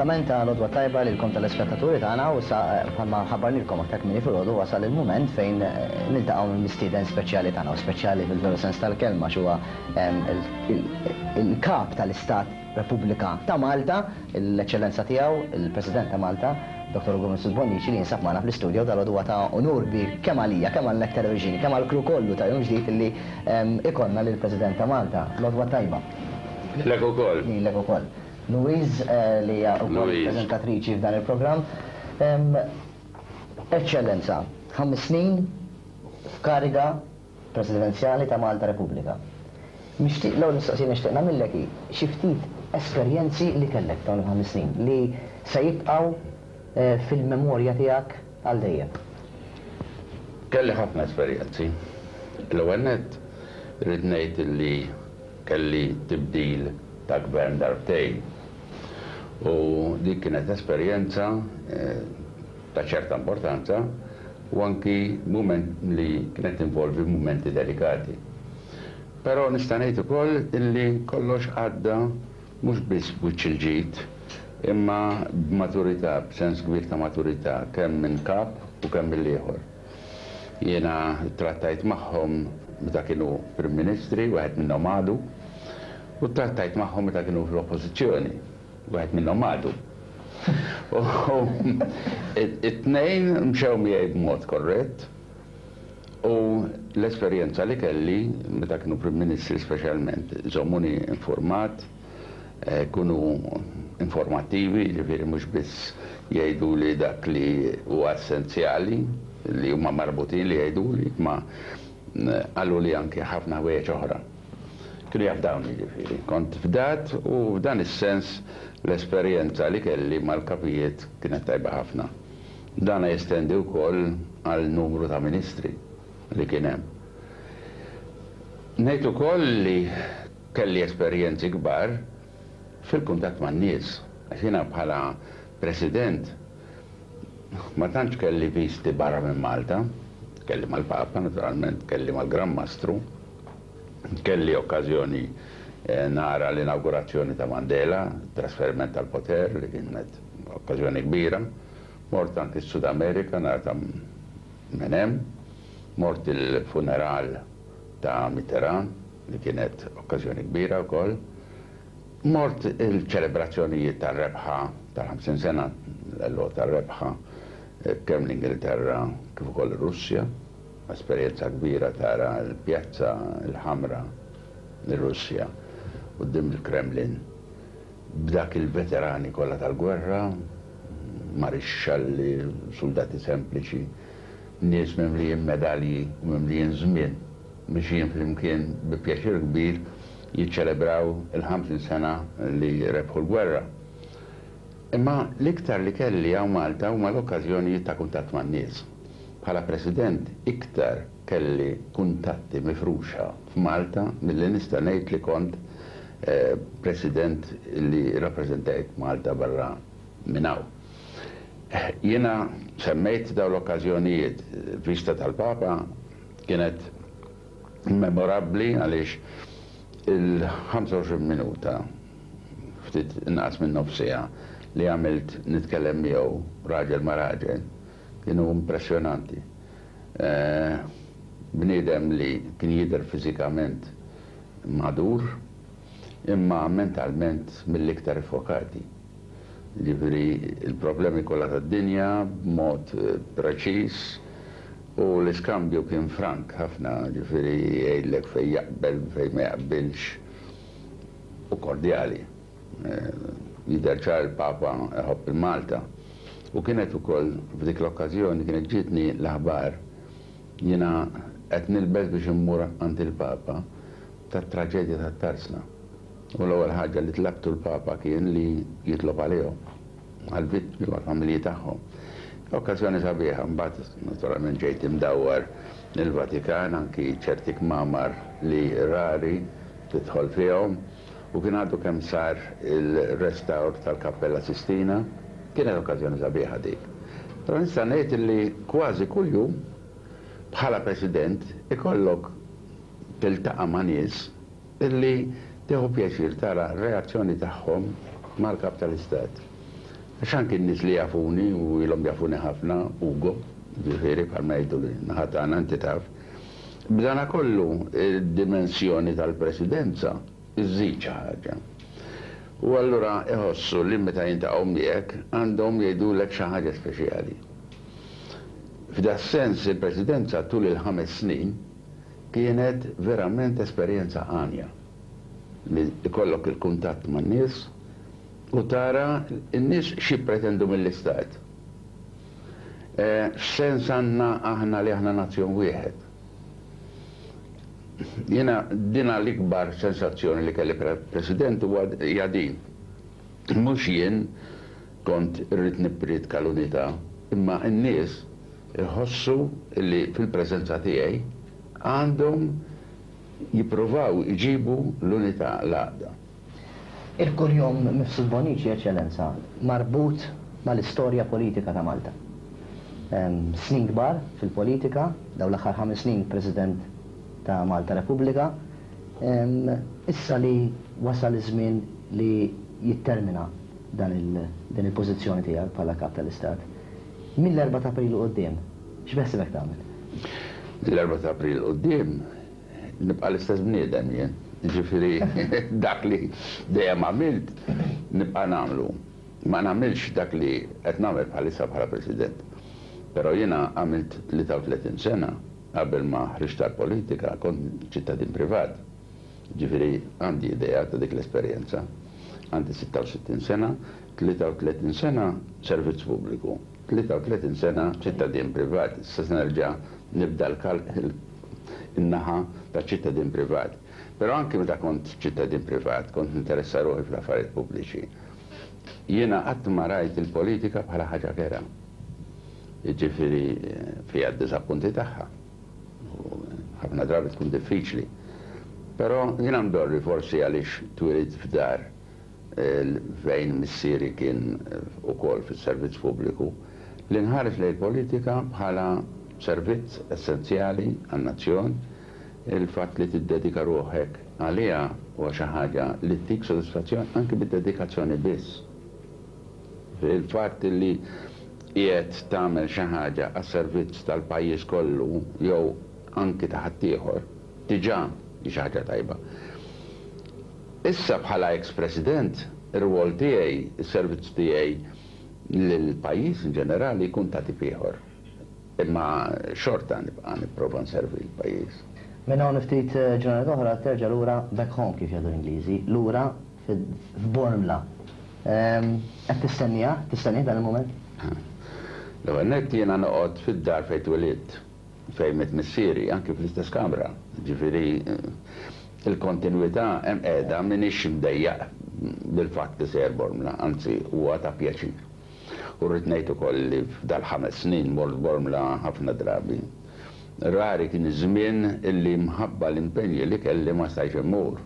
Kumplament ta' l-għodwa t-tajba lilkom telespettaturi tagħna u issa bħalma ħabbarnilkom aktar kmieni filgħodu wasal il-mument fejn niltaqgħu mal-mistieden speċjali tagħna u speċjali fil-veru sens tal-kelma għax huwa il-Kap tal-Istat Repubblika ta' Malta, l-Eċċellenza Tiegħu, il-President ta' Malta, Dottor Ugo Mifsud Bonnici li jinsab magħna fl-istudio dalgħodu huwa ta' unur kbir kemm għalija, kemm għal Net Television, kemm għall-crew kollu ta' Jum Ġdid illi ikollna lill-President ta' Malta. L-għodwa t-tajba. Lilek ukoll. Lilek ukoll. Louise li hija wkoll preżentatriċi f'dan il-programm. Eċċellenza, ħames snin f'kariga presidenzjali ta' Malta Repubblika. Nixtieq l-ewwel mistoqsija li nixtieq nagħmillek hi xi ftit esperjenzi li kellek f'dawn il-ħames snin li se jibqgħu fil-memorja tiegħek għal dejjem. Kelli ħafna esperjenzi. L-ewwel nett irrid ngħid li kelli tibdil ta' gvern darbtejn u dik kienet esperjenza ta' ċerta importanza u anki mument li kienet tinvolvi mumenti delikati. Però nista' ngħid ukoll illi kollox għadda mhux biss b'wiċċ il-ġid imma b'maturità, b'sens kbir ta' maturità kemm minn kap u kemm mill-ieħor. Jiena ttrattajt magħhom meta kienu Prim Ministri, wieħed minnhom għadu, u ttrattajt magħhom meta kienu fl-Oppożizzjoni, wieħed minnhom għadu. U t-tnejn mxew miegħi b'mod korrett u l-esperjenza li kelli meta kienu Prim Ministri speċjalment iżommuni infurmat, Jkunu informattivi, jiġifieri mhux biss jgħiduli dak li huwa essenzjali, li huma marbutin li jgħiduli, imma qaluli anki ħafna ħwejjeġ oħra. Kienu jafdawni jiġifieri. Kont fdat u f'dan is-sens l-esperjenza li kelli mal-kapijiet kienet tajba ħafna. Dana jestendi wkoll għal numru ta' ministri li kien hemm. Ngħid ukoll li Kelli esperjenzi kbar fil-kuntatt man-nies, għax jiena bħala President ma tantx kelli viżti barra minn Malta, kelli mal-Papa naturalment, kelli mal-Gran Mastru, kelli okkażjoni nara l-inawgurazzjoni ta' Mandela, it-trasferiment tal-poter li kienet okkażjoni kbira, mort anki s-Sud Amerika nara ta' Menem, mort il-funeral ta' Mitterrand, li kienet okkażjoni kbira wkoll. Mort il-ċelebrazzjonijiet tar-rebħa tal-50 sena l-għeluq tar-rebħa kemm l-Ingilterra kif ukoll ir-Russja. Esperjenza kbira tara l-Pjazza l-Ħamra ir-Russja quddiem il-Kremlin b'dak il-veterani kollha tal-gwerra, marixxalli, suldati sempliċi, nies mimlijin medalji u mimlijin żmien. Mixjin flimkien bi pjaċir kbir jiċċelebraw il-50 sena li rebħu l-gwerra. Imma l-iktar li kelli hawn Malta huma l-okkażjonijiet ta' kuntatt man-nies. Bħala President iktar kelli kuntatti mifruxa f'Malta milli nista' ngħid li kont President li rrappreżentajt Malta barra minn hawn. Jiena semmejt dawn l-okkażjonijiet, viżta tal-Papa, Kienet memorabbli għaliex il-25 minuta, ftit inqas minn nofs siegħa, li għamilt nitkellem miegħu raġel ma' raġel, kienu impressjonanti. Bniedem li kien jidher fiżikament madur, imma mentalment mill-iktar iffokati. Jiġifieri l-problemi kollha tad-dinja b'mod preċiż u l-iskambju kien frank ħafna, jiġifieri jgħidlek fejn jaqbel, fejn ma jaqbilx u kordjali. Jidher ċar il-Papa iħobb il-Malta. U kienet ukoll f'dik l-okkażjoni kienet ġietni l-aħbar jiena qed nilbes biex immur għand il-Papa tat-traġedja tat-Tarsna. U l-ewwel ħaġa li tlabtu l-Papa kien li jitlob għalihom, għall-vittmi u għall-familji tagħhom. Okkażjoni sabiħa, mbagħad naturalment ġejt imdawwar il-Vatikan, anki ċerti kmamar li rari tidħol fihom, u kien għadu kemm sar il-restawr tal-Kappella Sistina. Kienet okkażjoni sabiħa dik. Però nista' ngħid li kważi kuljum bħala President ikollok tiltaqa' ma' nies Illi tieħu pjaċir tara r-reazzjoni tagħhom mal-Kap tal-Istat. Għax anki n-nies li jafuni u ilhom jafuni ħafna, Ugo, ġifieri bħalma jgħidu n-naħa tagħna inti taf. B'dana kollu id-dimensjoni tal-presidenza żżid xi ħaġa. U allura iħossu li meta jintaqgħu miegħek għandhom jgħidulek xi ħaġa speċjali. F'das-sens il-presidenza tul il-ħames snin kienet verament esperjenza għanja li jkollok il-kuntatt man-nies u tara n-nies x'jippretendu mill-istat. X'sens għandna aħna li aħna nazzjon wieħed? Jiena dina l-ikbar sensazzjoni li kelli bħala President huwa hija din. Mhux jien kont irrid nipprietka l-unità, imma n-nies iħossu li fil-preżenza tiegħi għandhom jippruvaw iġibu l-unità, l-għaqda. Il-kunjom Mifsud Bonnici, Eċċellenza, marbut mal-istorja politika ta' Malta. Snin kbar fil-politika, dawn l-aħħar ħames snin President ta' Malta Repubblika. Issa li wasal iż-żmien li jittermina dan din il-pożizzjoni tiegħek bħala Kap tal-Istat, mill-erbgħa ta' April 'l quddiem, x'beħsiebek tagħmel? Mill-erbgħa ta' April 'l quddiem Nibqa' l-istess bniedem jien. Jiġifieri dak li dejjem għamilt nibqa' nagħmlu. Ma nagħmilx dak li qed nagħmel bħalissa bħala President. Però jiena għamilt 33 sena qabel ma ħriġt għall-politika kont ċittadin privat. Jiġifieri għandi idea ta' dik l-esperjenza. Għandi 66 sena, 33 sena servizz pubbliku, 33 sena ċittadin privat. Issa se nerġa' nibda in-naħa ta' ċittadin privat. Però anki meta kont ċittadin privat, kont ninteressa ruħi fl-affarijiet pubbliċi. Jiena qatt ma rajt il-politika bħala ħaġa kerha. Jiġifieri fiha d-diżappunti tagħha. U ħafna drabi tkun diffiċli. Però jiena mdorri forsi għaliex twilidt f'dar fejn missieri kien ukoll fis-servizz pubbliku, li nħares lejn il-politika bħala servizz essenzjali għan-nazzjon, il-fatt li tiddedika ruħek għaliha huwa xi ħaġa li ttik sodisfazzjon anki bid-dedikazzjoni biss. Il-fatt li qiegħed tagħmel xi ħaġa għas-servizz tal-pajjiż kollu jew anki ta' ħaddieħor diġà hi xi ħaġa tajba. Issa bħala eks President, ir-rwol tiegħi, is-servizz tiegħi lill-pajjiż in ġenerali jkun ta' tip ieħor. Imma xorta nibqa' nipprova nservi l-pajjiż. Minn hawn ftit ġranet oħra terġa' lura back home kif jgħidu l-Ingliżi, lura f'Bormla. Qed tistenniha, tistennih dan il-mument? L-ewwel nett jiena noqgħod fid-dar fejn twilidt. Fejn miet missieri, anki fl-istess kamra. Ġifieri il-kontinwità hemm qiegħda, m'iniex imdejjaq bil-fatt li sejjer Bormla, anzi huwa ta' pjaċir. U rrid ngħid ukoll li f'dal-ħames snin mort Bormla ħafna drabi. Rari kien iż-żmien illi mħabba l-impenji li kelli ma stajtx immur.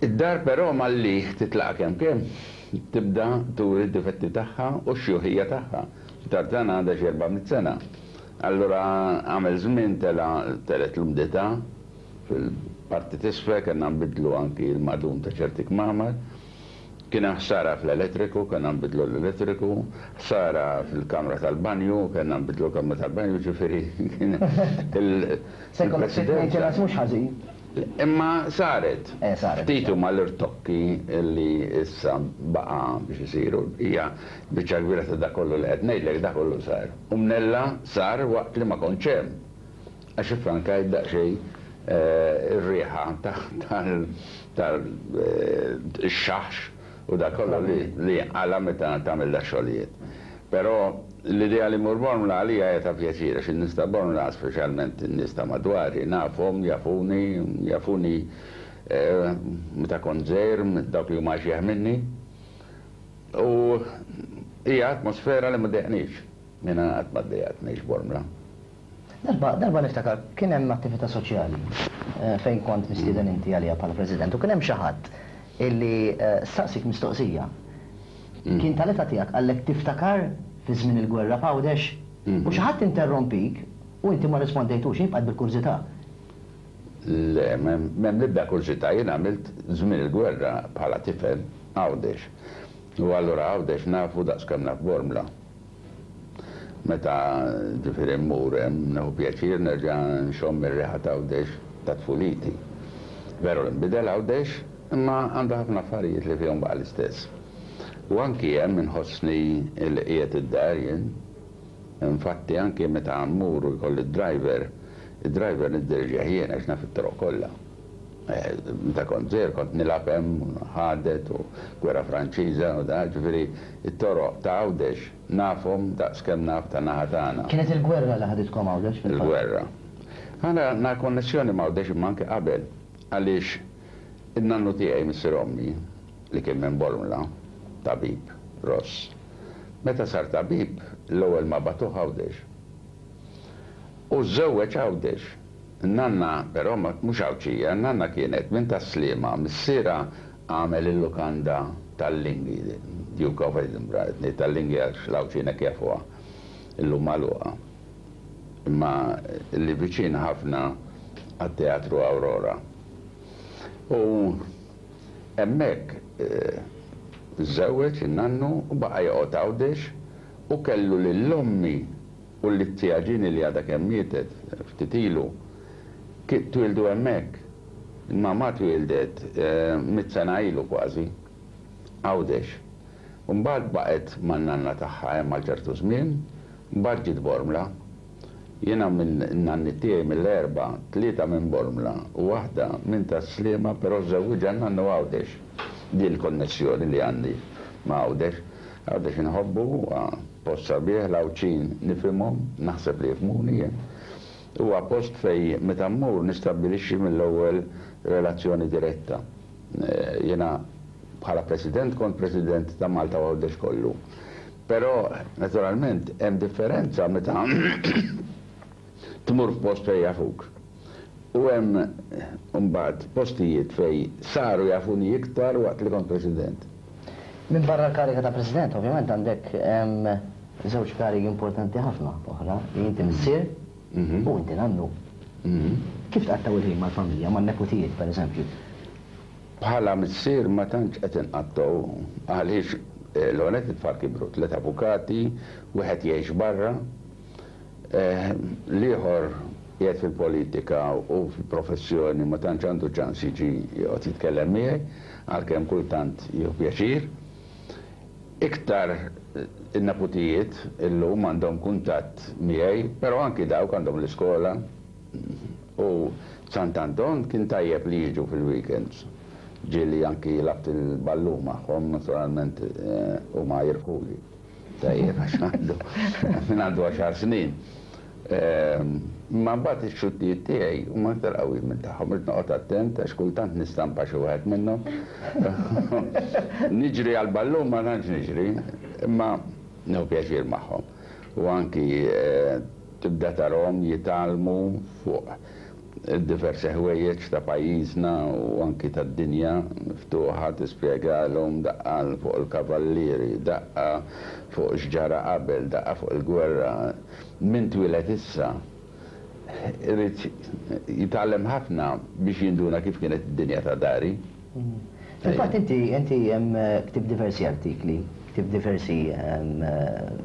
Id-dar però malli titlaqha kemm kemm, tibda turi d-difetti tagħha u x-xjuħija tagħha. Id-dar tagħna għandha xi 400 sena. Allura għamel żmien tela' telgħet l-umdità fil-parti t'isfel, kellna nbiddlu anki l-madum ta' ċerti kmamar. Kien hemm ħsara fl-elettriku, kellna nbiddlu l-elettriku, ħsara fil-kamra tal-banju, kellna nbiddlu l-kamra tal-banju, ġifieri kien il. Se jkollok ftit maintenance mhux ħażin. Imma saret. Eh, saret. Ftit huma l-irtokki li issa baqa' biex isiru. Hija biċċa kbira ta' dak kollu li qed ngħidlek, dak kollu sar. U mnella sar waqt li ma kontx hemm. Għax iffrankajt daqsxejn ir-riħa tal-xaħx u dak kollu li jinqala' meta tagħmel dax-xogħlijiet. Però l-idea li mmur Bormla għalija hija ta' pjaċir għax in-nies ta' Bormla, speċjalment in-nies ta' madwari, nafhom, jafuni, jafuni meta kont żgħir, dawk li huma axjeħ minni. U hija atmosfera li ma ddejjaqnix. Jiena qatt ma ddejjaqt ngħix Bormla. Darba, darba niftakar, kien hemm attività soċjali fejn kont mistieden inti għaliha bħala President u kien hemm xi ħadd illi staqsik mistoqsija. Kien tal-età tiegħek, qallek tiftakar fi żmien il-gwerra f'Għawdex? U xi ħadd interrompik u inti ma rrispondejtux, jien bqajt bil-kurżità. Le, m'hemm l-ebda kurżità, jien għamilt żmien il-gwerra bħala tifel Għawdex. U allura Għawdex nafu daqs kemm naf Bormla. Meta ġifieri mmur hemm nieħu pjaċir nerġa' nxomm ir-riħa t'Għawdex ta' tfuliti. Veru li nbidel Għawdex, imma għandu ħafna affarijiet li fihom baqa' l-istess. U anki hemm inħossni li qiegħed id-dar jien. Infatti anki meta mmur u jkolli d-driver, id-driver niddirġih jien għax naf it-toroq kollha. Meta kont żgħir kont nilgħab hemm ħadet u gwerra Franċiża u da, ġifieri t-toroq ta' Għawdex nafhom daqs kemm naf tan-naħa tagħna. Kienet il-gwerra li ħaditkom Għawdex fil-fatt? Il-gwerra. Aħna għandna konnessjoni ma' Għawdex imma anke qabel għaliex in-nannu tiegħi missier ommi li kien minn Bormla, tabib, Ross, meta sar tabib l-ewwel ma bagħtuh Għawdex. U żżewweġ Għawdex. In-nanna, però, mhux Għawdxija, in-nanna kienet minn Tas-Sliema, missierha għamel il-lukanda tal-Linghi, Duke of Edinburgh, qed ngħid tal-Linghi għax l-Għawdxin hekk jafuha, illum magħluqa, imma li viċin ħafna għat-Teatru Aurora. U hemmhekk żżewweġ in-nannu u baqa' joqgħod Għawdex u kellu lil ommi U l-tija Ġini li għadha kemm mietet ftit ilu, twieldu hemmhekk. Il-mamà twieldet mitt sena ilu kważi, Għawdex. U mbagħad baqgħet man-nanna tagħha hemm għal ċertu żmien, mbagħad ġiet Bormla. Jiena minn-nanniet tiegħi mill-erbgħa, tlieta minn Bormla u waħda minn Tas-Sliema però żżewwiġha n-nannu Għawdex. Din il-konnessjoni li għandi ma' Għawdex. Għawdex inħobbu, huwa post sabiħ, l-Għawdxin nifhimhom, naħseb li jifhmuni jien. Huwa post fejn meta mmur nistabbilixxi mill-ewwel relazzjoni diretta. Jiena bħala President kont President ta' Malta u Għawdex kollu. Però naturalment hemm differenza meta tmur f'post fejn jafuk. U hemm imbagħad postijiet fejn saru jafuni iktar waqt li kont President. Minbarra l-kariga ta' President, ovvjament għandek żewġ karigi importanti ħafna oħra, li inti missier u inti nannu. Kif tqattgħu il-ħin mal-familja, man-neputijiet pereżempju? Bħala missier ma tantx qed inqattgħu għaliex l-ewwel nett it-tfal kibru, tliet avukati, wieħed jgħix barra, L-ieħor qiegħed fil-politika u fil-professjoni ma tantx għandu ċans jiġi joqgħod jitkellem miegħi, għalkemm kultant jieħu pjaċir. Iktar in-neputijiet illum għandhom kuntatt miegħi, però anki dawk għandhom l-iskola u Sant'Anton kien tajjeb li jiġu fil-weekends. Ġieli anki lgħabt il-ballun magħhom, naturalment huma jirbħuli. Tajjeb, għax għandu, minn għandu għaxar snin. Imma mbagħad ix-xuttijiet tiegħi huma aktar qawwijin minn tagħhom, irid noqgħod attent għax kultant nistampa xi wieħed minnhom. Niġri għall-ballun ma tantx niġri, imma nieħu pjaċir magħhom. U anki tibda tarahom jitgħallmu fuq Diversi ħwejjeġ ta' pajjiżna u anki tad-dinja miftuħa tispjegalhom daqqa fuq il-kavallieri, daqqa fuq x'ġara qabel, daqqa fuq il-gwerra. Min twieled issa irid jitgħallem ħafna biex jinduna kif kienet id-dinja ta' dari. Fil-fatt inti inti ktibt diversi artikli, ktibt diversi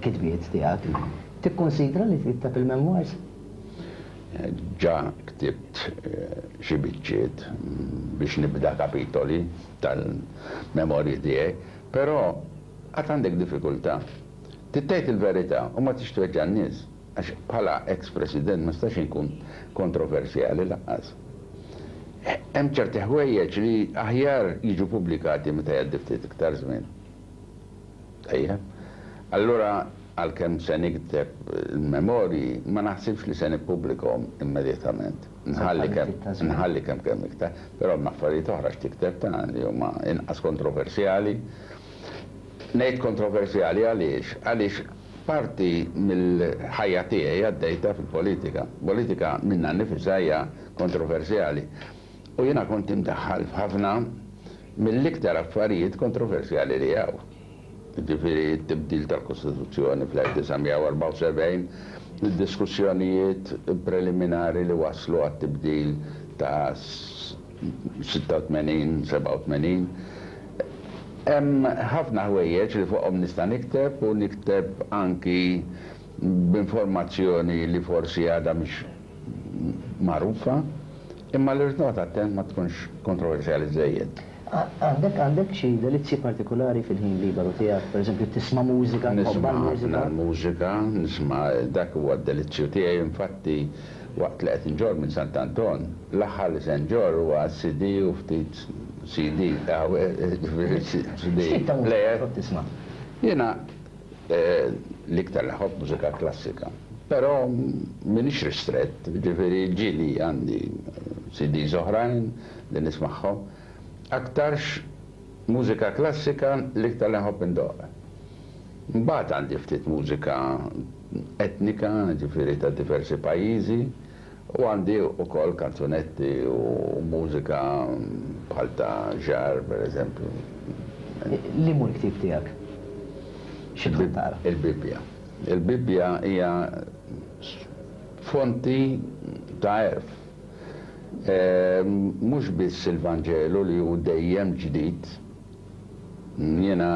kitbiet tiegħek. Tikkunsidra li tikteb il-memoirs? Ġa ktibt xi biċċiet biex nibda kapitoli tal-memorji tiegħi, però għad għandek diffikultà. Trid tgħid il-verità u ma tridx tweġġa' n-nies, għax bħala eks President ma nistax inkun kontroversjali lanqas. Hemm ċerti ħwejjeġ li aħjar jiġu pubblikati meta jgħaddi ftit iktar żmien. Tajjeb. Allura għalkemm se nikteb il-memorji, ma naħsibx li se nippubblikahom immedjatament. Nħalli kemm nħalli kemm kemm iktar. Però hemm affarijiet oħra x'tikteb ta' li huma inqas kontroversjali. Ngħid kontroversjali għaliex? Għaliex parti mill-ħajja tiegħi għaddejtha fil-politika. Politika minnha nnifisha hija kontroversjali. U jiena kont imdaħħal f'ħafna mill-iktar affarijiet kontroversjali li hawn. Jiġifieri t-tibdil tal-Kostituzzjoni fl-1974, id-diskussjonijiet preliminari li wasslu għat-tibdil ta' 86, 87. Hemm ħafna ħwejjeġ li fuqhom nista' nikteb u nikteb anki b'informazzjoni li forsi għadha mhix magħrufa, imma li rrid noqgħod attent ma tkunx kontroversjali żżejjed. Għandek għandek xi delizzji partikulari fil-ħin liberu tiegħek? Pereżempju tisma' mużika, tħobbha Nisma' ħafna l-mużika? l-mużika, nisma' dak huwa d-delizzju tiegħi, infatti waqt li qed inġorr minn Sant'Anton, l-aħħar li se nġorr huwa CD u ftit CD, ġifieri CD X'tip ta' mużika player. tħobb tisma'? Jiena l-iktar li nħobb mużika klassika, però m'iniex ristrett, jiġifieri ġieli għandi CDs oħrajn li nismagħhom. Aktarx mużika klassika l-iktar li nħobb indoqq. Mbagħad għandi ftit mużika etnika, jiġifieri ta' diversi pajjiżi, u għandi wkoll kanzunetti u mużika bħal ta' Jarre, pereżempju. Liema hu l-ktieb tiegħek? Xi tħobb taqra? Il-Bibbja. Il-Bibbja hija fonti ta' għerf. Mhux biss il-Vanġelu li hu dejjem ġdid. Jiena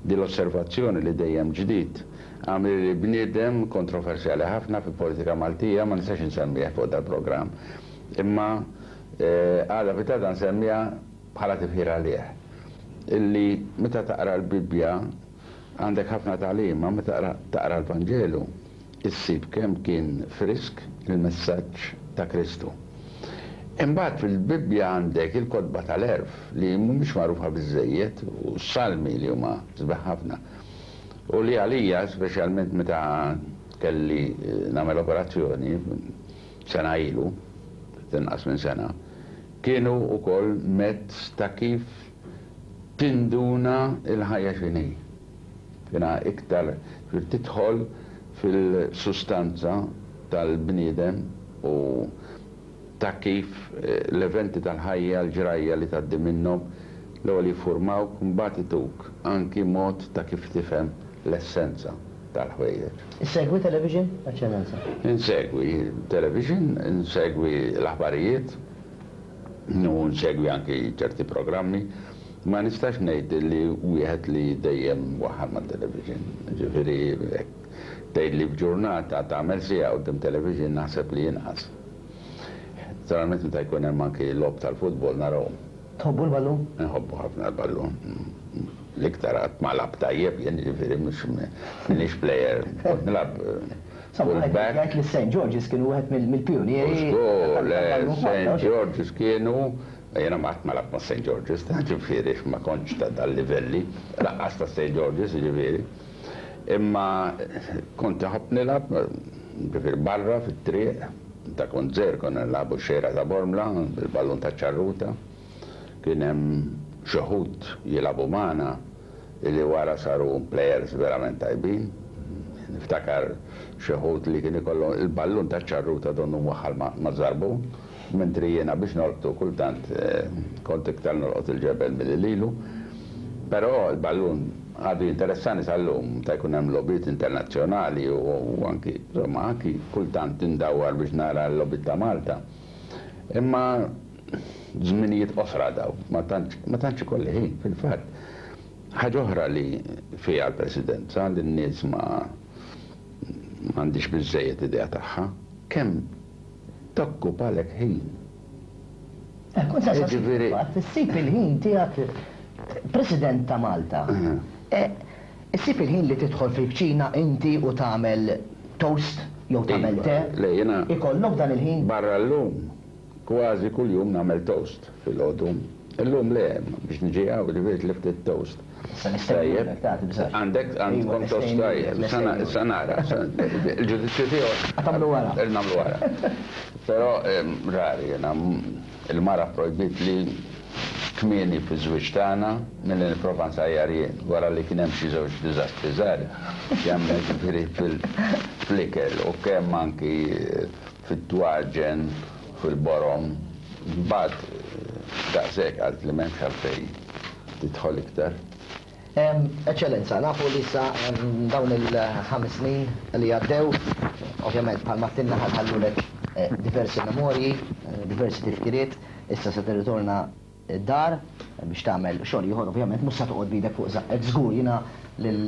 din l-osservazzjoni li dejjem ġdid għamlili bniedem kontroversjali ħafna fil-politika Maltija, ma nistax insemmih fuq dal-programm, imma għada pitgħada nsemmiha bħala tifħir għalih. Illi meta taqra l-Bibbja għandek ħafna tagħlim, imma meta taqra l-Vanġelu issib kemm kien frisk il-messaġġ ta' Kristu. Imbagħad fil-Bibbja għandek il-kotba tal-għerf li mhumiex magħrufa biżżejjed u s-Salmi li huma sbieħ ħafna. U li għalija, speċjalment meta kelli nagħmel operazzjoni sena ilu, ftit inqas minn sena, kienu wkoll mezz ta' kif tinduna l-ħajja x'inhi. Jiena iktar trid tidħol fil-sustanza tal-bniedem u ta' kif l-eventi tal-ħajja, l-ġrajja li tgħaddi minnhom, l-ewwel jiffurmawk mbagħad ituk anki mod ta' kif tifhem l-essenza tal-ħwejjeġ. Issegwi television, Eċċellenza? Insegwi television, insegwi l-aħbarijiet. U nsegwi anki ċerti programmi. Ma nistax ngħid li wieħed li dejjem mwaħħal mat-television. Ġifieri jekk tgħidli f'ġurnata tagħmel siegħa quddiem television naħseb li inqas. Naturalment meta jkun hemm anki logħob tal-futbol narahom. Tħobbu l-ballun? Inħobbu ħafna l-ballun. L-iktar qatt ma lgħabt tajjeb jien, jiġifieri mhux m'iniex plejer. Kont nilgħab full back. Jgħid li St. George's kienu wieħed mill-pijunieri. Żgur, le, St. George's kienu, jiena qatt ma lgħabt ma' St. George's, ta' ġifieri ma kontx ta' dal-livelli, lanqas ta' St. George's, jiġifieri. Imma kont inħobb nilgħab, ġifieri barra fit-triq, meta kont żgħir konna nilagħbu x-xejra ta' Bormla bil-ballun taċ-ċarruta. Kien hemm xi wħud jilagħbu magħna li wara saru plejers verament tajbin. Niftakar xi wħud li kien ikollhom il-ballun taċ-ċarruta donnu mwaħħal maż-żarbun, mentri jiena biex nolqtu kultant kont iktar nolqot il-ġebel milli lilu. Però l-ballun għadu jinteressani sal-lum meta jkun hemm logħbiet internazzjonali u anki, insomma, anki kultant indawwar biex nara l-logħbiet ta' Malta. Imma żminijiet qosra dawn, ma tantx ma tantx ikolli ħin, fil-fatt. Ħaġa oħra li fiha l-Presidenza li n-nies ma m'għandhiex biżżejjed idea tagħha, kemm tokkupalek ħin. Eh, kont se nsaqsik fil-fatt, issib il-ħin tiegħek President ta' Malta. Eh, issib il-ħin li tidħol fil-kċina inti u tagħmel toast jew tagħmel Iva, te? le jiena Ikollok dan il-ħin? Barra llum, Kważi kuljum nagħmel toast filgħodu. Illum le, biex niġi hawn ġifieri tlift it-toast. Issa nistennulek, ta' tibżax. Għandek, għandkom toast tajjeb. Issa nara. Il-ġudizzju tiegħu. Tagħmlu wara. Nagħmlu wara. Però rari jiena il-mara pprojbitli kmieni fiż-żwieġ tagħna milli nipprova nsajjar jien wara li kien hemm xi żewġ diżastri żgħar kemm jiġifieri fl-ikel u kemm anki fit-twaġen, fil-borom, mbagħad daqshekk qaltli m'hemmx għalfejn tidħol iktar. Eċċellenza, nafu li issa dawn il-ħames snin li għaddew, ovvjament bħalma għedtilna ħallulek diversi memorji, diversi tifkiriet, issa se tirritorna. id-dar biex tagħmel xogħol ieħor ovvjament mhux sa toqgħod b'idek fuq żaqqek żgur jiena lil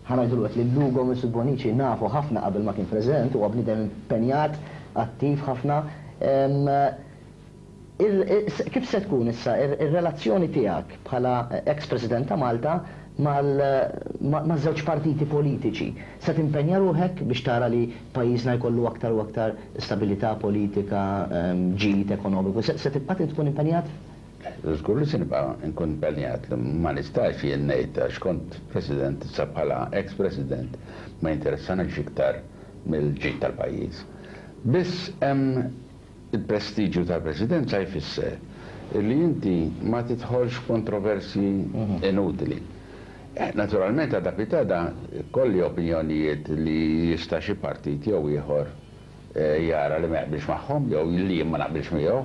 ħa ngħidulu hekk lil Ugo Mifsud Bonnici nafu ħafna qabel ma kien President huwa bniedem impenjat attiv ħafna. Kif se tkun issa r-relazzjoni tiegħek bħala eks President ta' Malta maż-żewġ partiti politiċi? Se timpenja ruħek biex tara li pajjiżna jkollu aktar u aktar stabilità politika, ġid ekonomiku? Se tibqa' tkun impenjat? Żgur li se nibqa' nkun impenjat. Ma nistax jien ngħid għax kont President issa bħala eks President ma jinteressanix iktar mill-ġid tal-pajjiż. Biss hemm Il-prestiġju tal-Presidenza jfisser li inti ma tidħolx f'kontroversji inutili. Naturalment għada pitgħada jkolli opinjonijiet li jista' xi partit jew ieħor jara li ma jaqbilx magħhom jew li jien ma naqbilx miegħu.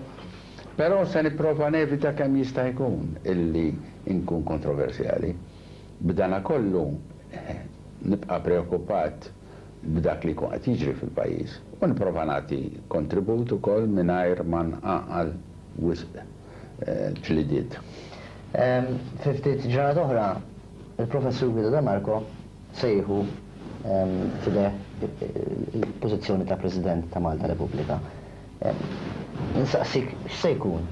Però se nipprova nevita kemm jista' jkun illi nkun kontroversjali. B'danakollu nibqa' preokkupat b'dak li jkun qed jiġri fil-pajjiż u nipprova nagħti kontribut ukoll mingħajr ma nqanqal wisq ġlidiet. Fi ftit ġranet oħra, il-Professur Guido De Marco se jieħu f'idejh il-pożizzjoni ta' President ta' Malta Repubblika. Insaqsik x'se jkun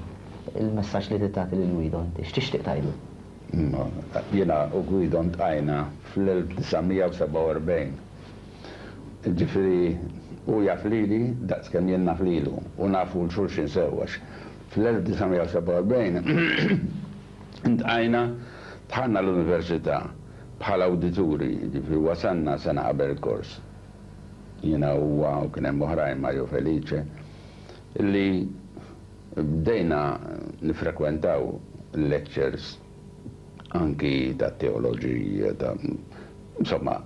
il-messaġġ li trid tagħti lil Guido inti? X'tixtieq tgħidlu? Jiena u Guido ntqajna fl-1947. Jiġifieri hu jaf lili daqs kemm jien naf lilu u nafu 'l xulxin sew għax fl-1947 ntqajna, dħalna l-università bħala awdituri, jiġifieri wasalna sena qabel il-kors. Jiena u huwa u kien hemm oħrajn, Mario Felice, li Bdejna niffrekwentaw lectures anki ta' teoloġija, ta' insomma,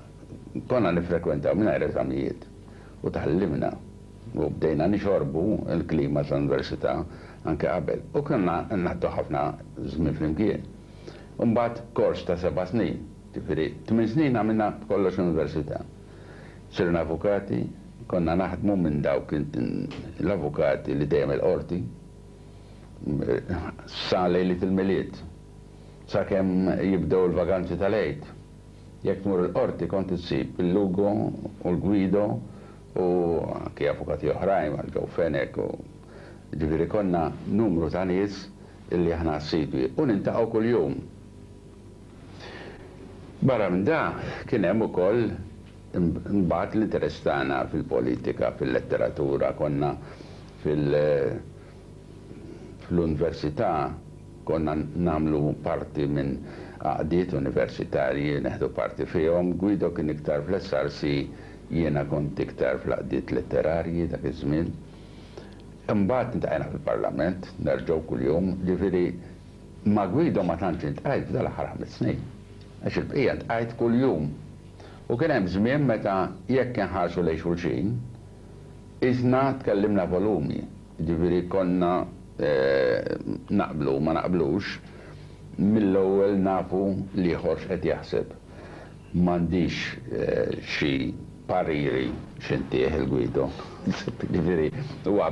konna niffrekwentaw mingħajr eżamijiet u tgħallimna u bdejna nixorbu l-klima tal-università anke qabel u konna ngħaddu ħafna żmien flimkien. U mbagħad kors ta' seba' snin, ġifieri tmien snin għamilna b'kollox l-università. Sirna avukati, konna naħdmu minn dawk l-avukati li dejjem il-qorti sa lejliet il-Milied, sakemm jibdew il-vaganzi tal-Għid. Jekk tmur il-qorti kont issib il-Lugo u l-Guido u anki avukati oħrajn bħal Joe Fenech u ġifieri konna numru ta' nies illi aħna assidwi u niltaqgħu kuljum. Barra minn dan, kien hemm ukoll imbagħad l-interess tagħna fil-politika, fil-letteratura, konna fil fl-università konna nagħmlu parti minn għaqdiet universitarji, neħdu parti fihom. Guido kien iktar fl-SRC, jiena kont iktar fl-għaqdiet letterarji dak iż-żmien. Imbagħad iltqajna fil-Parlament, nerġgħu kuljum, ġifieri Ma' Guido ma tantx iltqajt f'dal-aħħar ħames snin, għax il-bqija ltqajt kuljum. U kien hemm żmien meta jekk inħarsu lejn xulxin, qisna tkellimna volumi, jiġifieri konna naqblu u ma naqblux, mill-ewwel nafu l-ieħor x'qed jaħseb. M'għandix xi pariri xi ntih il Guido. Jiġifieri huwa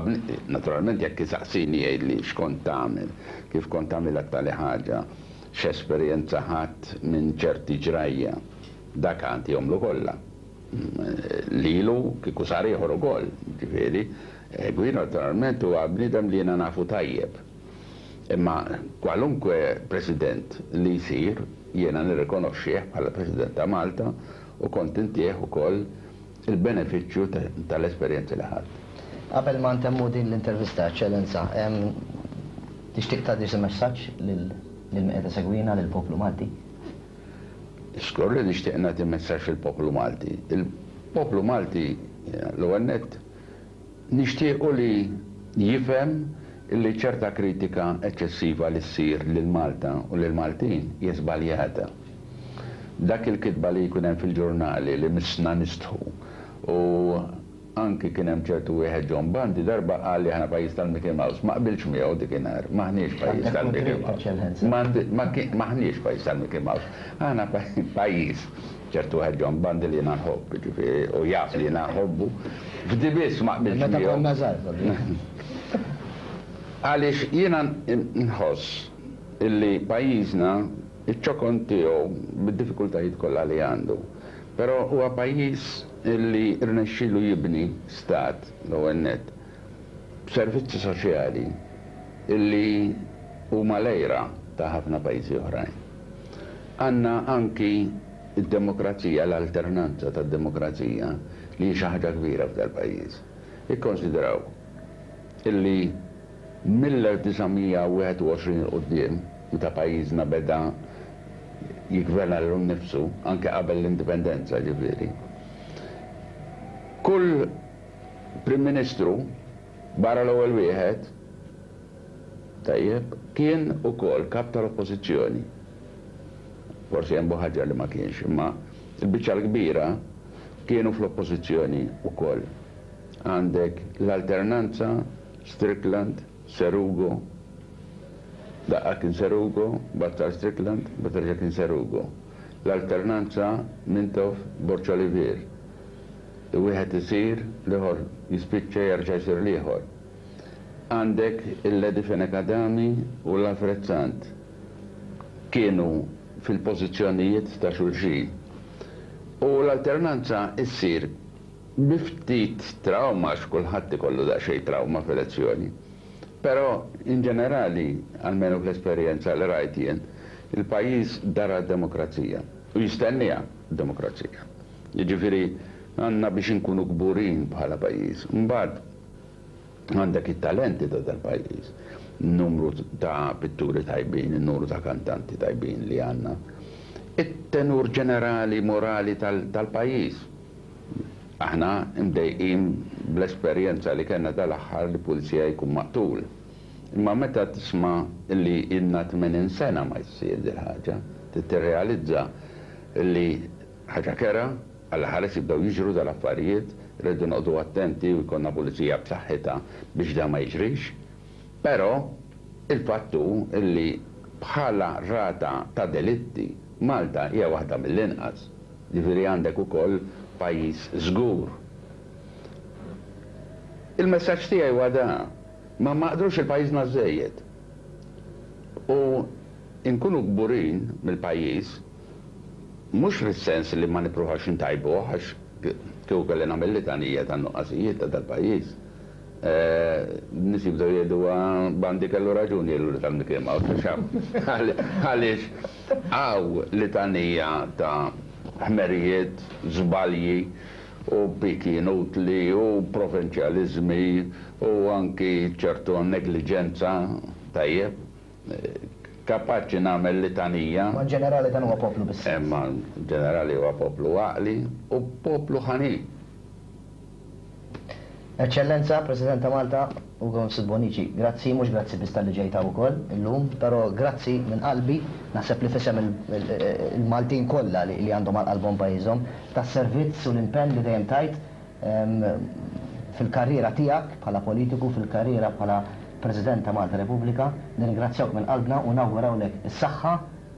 naturalment jekk isaqsini jgħidli x'kont tagħmel, kif kont tagħmilha t-tali ħaġa, x'esperjenza ħadt minn ċerti ġrajja. Dak għantihomlu kollha. Lilu kieku sar ieħor ukoll, jiġifieri. Guido naturalment huwa bniedem li jiena nafu tajjeb. Imma kwalunkwe President li jsir jiena nirrikonoxxih bħala President ta' Malta u kont intih ukoll il-benefiċċju tal-esperjenzi li ħadt. Qabel ma ntemmu din l-intervista, Eċċellenza, tixtieq tgħaddi xi messaġġ lil min qed isegwina, lill-poplu Malti? Żgur li nixtieq nagħti messaġġ lill-poplu Malti. Il-poplu Malti, l-ewwel nett, Nixtiequ li jifhem li ċerta kritika eċċessiva li ssir lil Malta u lill-Maltin hija żbaljata. Dak il-kitba li jkun hemm fil-ġurnali li missna nistħu u anki kien hemm ċertu wieħed John Bundy darba qal li aħna pajjiż tal-Mickey Mouse. Ma qbiltx miegħu dikinhar. M'aħniex pajjiż tal-Mickey Mouse. M'aħniex pajjiż tal-Mickey Mouse. Aħna pajjiż Ċertu wieħed John Bundy li jiena nħobb, jiġifieri, u jaf li jiena nħobbu. F'di biss ma qbiltx Meta miegħu. konna żgħar, proprju. Għaliex jiena nħoss. illi pajjiżna iċ-ċokon tiegħu bid-diffikultajiet kollha li għandu. Però huwa pajjiż illi rnexxielu jibni stat l-ewwel nett b'servizzi soċjali illi huma l-għira ta' ħafna pajjiżi oħrajn. Għandna anki d-demokrazija, l-alternanza tad-demokrazija li hi xi ħaġa kbira f'dal-pajjiż. Ikkonsidraw illi mill-1921 'il quddiem, meta pajjiżna beda jiggverna lilu nnifsu, anke qabel l-Indipendenza ġifieri, kull Prim Ministru, barra l-ewwel wieħed, tajjeb, kien ukoll Kap tal-Oppożizzjoni. Forsi hemm Buħaġar li ma kienx, imma l-biċċa l-kbira kienu fl-Oppożizzjoni wkoll. Għandek l-alternanza Strickland, Serugo, daqqa kien Serugo, mbagħad sar Strickland, mbagħad reġa' kien Serugo. L-alternanza Mintoff, Borg Olivier. Wieħed isir, l-ieħor jispiċċa jerġa' jsir l-ieħor. Għandek il-Lady Fenech Adami u l-Alfred Sant. Kienu fil-pożizzjonijiet ta' xulxin. U l-alternanza ssir Bi ftit trawma għax kulħadd ikollu daqsxejn trawma f'elezzjoni. Però in ġenerali, almenu fl-esperjenza li rajt jien, il-pajjiż dara d-demokrazija u jistenniha d-demokrazija. Jiġifieri għandna biex inkunu kburin bħala pajjiż. Imbagħad għandek it-talenti ta' dal-pajjiż, in-numru ta' pitturi tajbin, in-numru ta' kantanti tajbin li għandna, it-tenur ġenerali morali tal-pajjiż. Aħna mdejqin bl-esperjenza li kellna dal-aħħar li pulizija jkun maqtul. Imma meta tisma' li ilna 80 sena ma jsir dil-ħaġa, trid tirrealizza li ħaġa kerha, Alla ħares jibdew jiġru dal-affarijiet, irridu noqogħdu attenti u jkollna pulizija b'saħħitha biex dan ma jiġrix. Però il-fatt hu li bħala rata ta' delitti Malta hija waħda mill-inqas. Jiġifieri għandek ukoll pajjiż żgur. Il-messaġġ tiegħi huwa dan, ma nmaqdrux 'il pajjiżna żżejjed. U nkunu kburin mill-pajjiż Mhux fis-sens li ma nippruvax intajbuh għax kieku kelli nagħmel litanija tan-nuqqasijiet ta' dal-pajjiż, nies jibdew jgħidu Bandi kellu raġun jgħidlu li tal-Mickey Mouse għax għaliex hawn litanija ta' ħmerijiet, żbalji u piki inutli u provinċjaliżmi u anki ċertu negliġenza, tajjeb. Kapaċi nagħmel litanija. Ma ġenerali dan huwa poplu bis-sens. Imma ġenerali huwa poplu għaqli u poplu ħanin. Eċċellenza, President ta' Malta, Ugo Mifsud Bonnici, grazzi, mhux grazzi biss talli ġejt hawn ukoll illum, però grazzi minn qalbi, naħseb li f'isem il-Maltin kollha li għandhom għal qalbhom pajjiżhom, tas-servizz u l-impenn li dejjem tajt fil-karriera tiegħek bħala politiku, fil-karriera bħala President ta' Malta Repubblika, nirringrazzjawk minn qalbna u nawgurawlek is-saħħa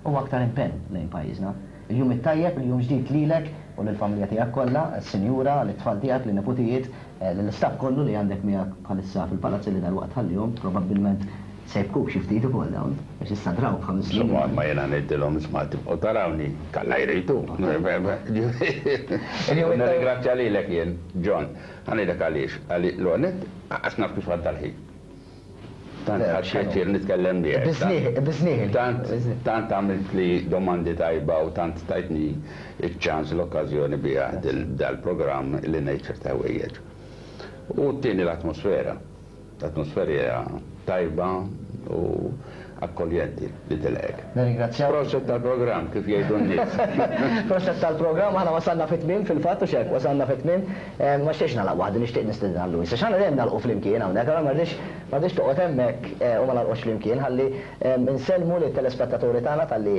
u aktar impenn lejn pajjiżna. Il-jum it-tajjeb, il-jum ġdid lilek u lill-familja tiegħek kollha, lis-sinjura, lit-tfal tiegħek, lin-neputijiet, lill-istaff kollu li għandek miegħek bħalissa fil-palazz li dalwaqt tħallihom, probabbilment se jibkuk xi ftit ukoll dawn, għax issa drawk b'ħames snin. Insomma, ma jiena ngħidilhom isma' tibqgħu tarawni, t'Alla jrid hu. Nirringrazzja lilek jien, John. Ħa ngħidlek għaliex, għaliex l-ewwel nett Lanqas naf kif għadda l-ħin. Tant ħadt pjaċir nitkellem miegħek. Biżnieħ. Tant, tant għamiltli domandi tajba u tant tajtni ċ-ċans, l-okkażjoni biha dal-programm li ngħid ċerti ħwejjeġ. U t-tieni l-atmosfera. L-atmosfera hija tajba u akkoljenti li tilqgħek. Nirringrazzjawk. Proset tal-programm kif jgħidu n-nies. Proset tal-programm, aħna wasalna fit-tmiem fil-fatt hux hekk, wasalna fit-tmiem. Ma nixtieqx nagħlaq waħdi, nixtieq nistieden għal Louis għax aħna dejjem nagħlqu flimkien hawnhekk, allura ma rridx ma rridx toqgħod hemmhekk u ma nagħlqux flimkien ħalli nsellmu lit-telespettaturi tagħna talli.